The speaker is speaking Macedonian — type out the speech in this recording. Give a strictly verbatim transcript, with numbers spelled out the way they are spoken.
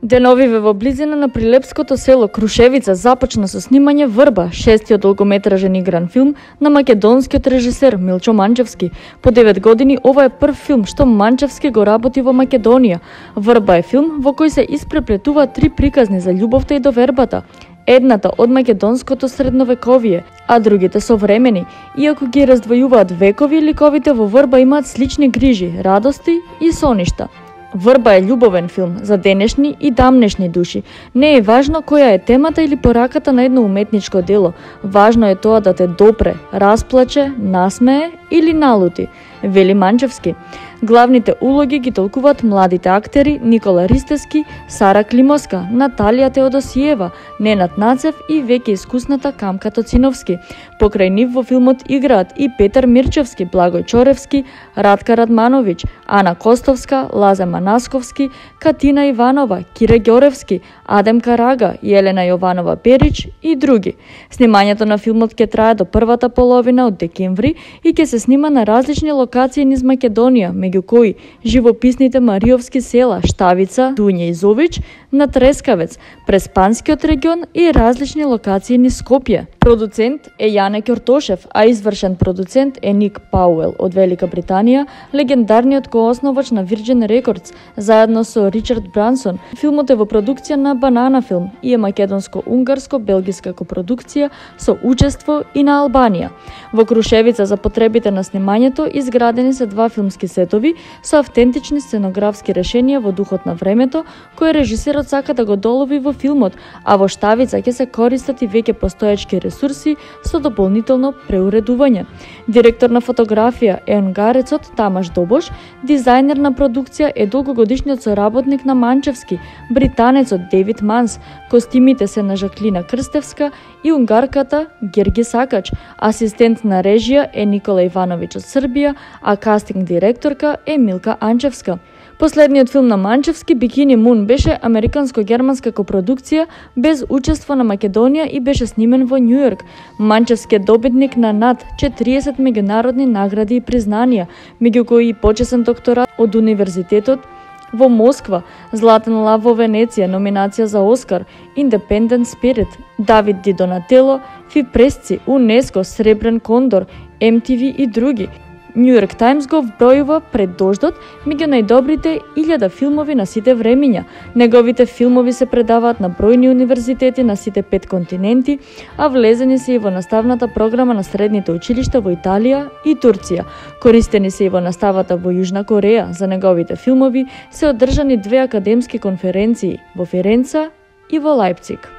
Деновиве во близина на прилепското село Крушевица започна со снимање Врба, шестиот долгометражен игран филм на македонскиот режисер Милчо Манчевски. По девет години ова е прв филм што Манчевски го работи во Македонија. Врба е филм во кој се испреплетуваат три приказни за љубовта и довербата. Едната од македонското средновековие, а другите современи. Иако ги раздвојуваат векови, ликовите во Врба имаат слични грижи, радости и соништа. Врба е љубовен филм за денешни и дамнешни души. Не е важно која е темата или пораката на едно уметничко дело. Важно е тоа да те допре, расплаче, насмее или налути, вели Манчевски. Главните улоги ги толкуваат младите актери Никола Ристевски, Сара Климовска, Наталија Теодосиева, Ненад Нацев и веќе искусната Камка Тоциновски. Покрај нив во филмот играат и Петар Мирчевски, Благој Чоревски, Радка Радмановиќ, Ана Костовска, Лазе Манасковски, Катина Иванова, Кире Ѓоревски, Адем Карага, Јелена Јованова Перич и други. Снимањето на филмот ќе трае до првата половина од декември и ќе се снима на различни локации низ Македонија, меѓу кои живописните Мариовски села Штавица, Дуња и Зович, на Трескавец, през Панскиот регион и различни локации низ Скопје. Продуцент е Јане Ќортошев, а извршен продуцент е Ник Пауел од Велика Британија, легендарниот коосновач на Virgin Records, заедно со Ричард Брансон. Филмот е во продукција на Банана Филм и е македонско-унгарско-белгиска копродукција со учество и на Албанија. Во Крушевица за потребите на снимањето изградени се два филмски сетови со автентични сценографски решенија во духот на времето, кој режисерот сака да го долови во филмот, а во Штавица ќе се користат и веќе постоечки ресурси со дополнително преуредување. Директор на фотографија е унгарецот Тамаш Добош, дизајнер на продукција е долгогодишниот соработник на Манчевски, британецот Дейвид Манс, костимите се на Жаклина Крстевска и унгарката Герги Сакач, асистент на режија е Никола Ивановиќ од Србија, а кастинг директорка е Милка Анчевска. Последниот филм на Манчевски, Бикини Мун, беше американско-германска копродукција без учество на Македонија и беше снимен во Њу Йорк. Манчевски е добитник на над четириесет меѓународни награди и признанија, меѓу кои и почесен докторат од Универзитетот во Москва, Златен лав во Венеција, номинација за Оскар, Independent Spirit, Давид Ди Донателло, Фи Пресци, УНЕСКО, Сребрен кондор, Ем Ти Ви и други. Њу Йорк Таймс го вбројува пред дождот меѓу најдобрите илјада филмови на сите времиња. Неговите филмови се предаваат на бројни универзитети на сите пет континенти, а влезени се и во наставната програма на средните училишта во Италија и Турција. Користени се и во наставата во Јужна Кореја. За неговите филмови се одржани две академски конференции во Ференца и во Лајпциг.